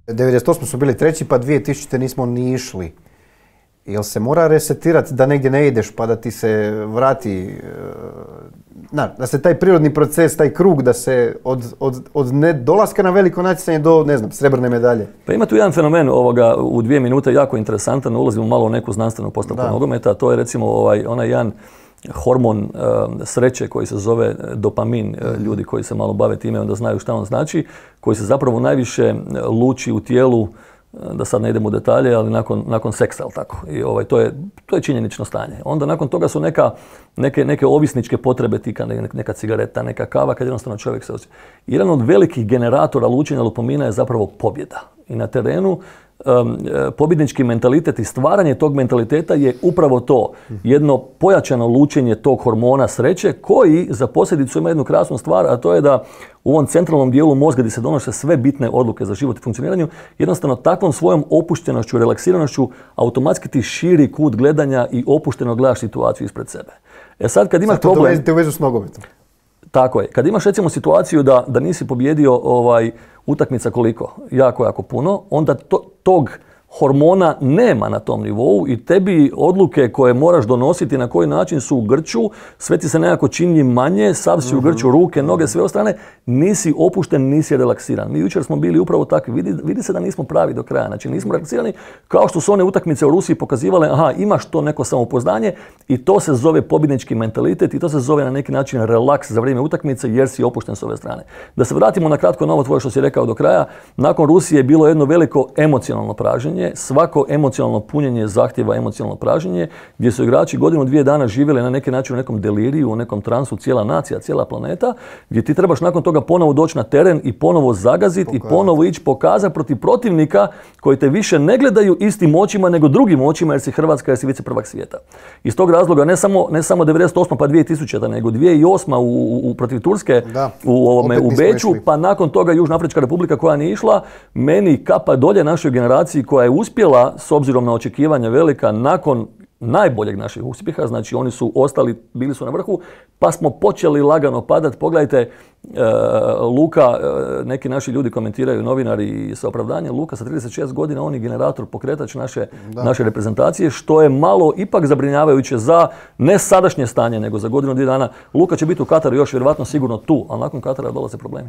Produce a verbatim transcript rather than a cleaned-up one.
devedeset osme su bili treći, pa dvije tisućite nismo ni išli. Jel se mora resetirati da negdje ne ideš pa da ti se vrati, na, da se taj prirodni proces, taj krug, da se od, od, od ne dolaska na veliko natjecanje do, ne znam, srebrne medalje? Pa ima tu jedan fenomen ovoga u dvije minute jako interesantan, ulazimo malo u neku znanstvenu postavku nogometa, to je recimo ovaj, onaj jedan hormon uh, sreće koji se zove dopamin, uh, ljudi koji se malo bave time onda znaju šta on znači, koji se zapravo najviše luči u tijelu, da sad ne idemo u detalje, ali nakon, nakon seksa, ali tako. I ovaj, to, je, to je činjenično stanje. Onda nakon toga su neka, neke, neke ovisničke potrebe, tika, neka cigareta, neka kava, kad jednostavno čovjek se osjeća. Jedan od velikih generatora lučenja dopamina je zapravo pobjeda. I na terenu um, pobjednički mentalitet i stvaranje tog mentaliteta je upravo to. Jedno pojačano lučenje tog hormona sreće koji za posljedicu ima jednu krasnu stvar, a to je da u ovom centralnom dijelu mozga gdje se donose sve bitne odluke za život i funkcioniranju, jednostavno takvom svojom opuštenošću, relaksiranošću automatski ti širi kut gledanja i opušteno gledaš situaciju ispred sebe. E sad kad imaš problem... Sad to u vezu s nogometom. Tako je. Kad imaš recimo situaciju da, da nisi pobjedio ovaj, utakmica koliko? Jako, jako puno, onda to, tog hormona nema na tom nivou i tebi odluke koje moraš donositi na koji način su u grču, sve ti se nekako čini manje, sav si u grču, ruke, noge, sve ostane, nisi opušten, nisi relaksiran. Mi jučer smo bili upravo takvi, vidi, vidi se da nismo pravi do kraja, znači nismo relaksirani, kao što su one utakmice u Rusiji pokazivale, aha, imaš to neko samopouzdanje i to se zove pobjednički mentalitet i to se zove na neki način relaks za vrijeme utakmice jer si opušten s ove strane. Da se vratimo na kratko na ovo tvoje što si rekao do kraja, nakon Rusije je bilo jedno veliko emocionalno praženje. Svako emocionalno punjenje zahtjeva emocionalno praženje, gdje su igrači godinu, dvije dana živjeli na neki način u nekom deliriju, u nekom transu, cijela nacija, cijela planeta, gdje ti trebaš nakon toga ponovo doći na teren i ponovo zagaziti i ponovo ići pokazati protiv protivnika koji te više ne gledaju istim očima nego drugim očima jer si Hrvatska, jer si viceprvak svijeta. Iz tog razloga ne samo, ne samo devedeset osma pa dvije tisućita nego dvije tisuće osma u, u, protiv Turske da, u, ovome, u Beču, pa nakon toga Južnoafrička republika koja nije išla, meni kapa dolje našoj generaciji koja je uspjela, s obzirom na očekivanja velika, nakon najboljeg naših uspjeha, znači oni su ostali, bili su na vrhu, pa smo počeli lagano padati. Pogledajte, e, Luka, e, neki naši ljudi komentiraju, novinari sa opravdanjem, Luka sa trideset šest godina, on je generator, pokretač naše, naše reprezentacije, što je malo ipak zabrinjavajuće za ne sadašnje stanje, nego za godinu, dvije dana. Luka će biti u Kataru još vjerovatno sigurno tu, ali nakon Katara dolaze problemi.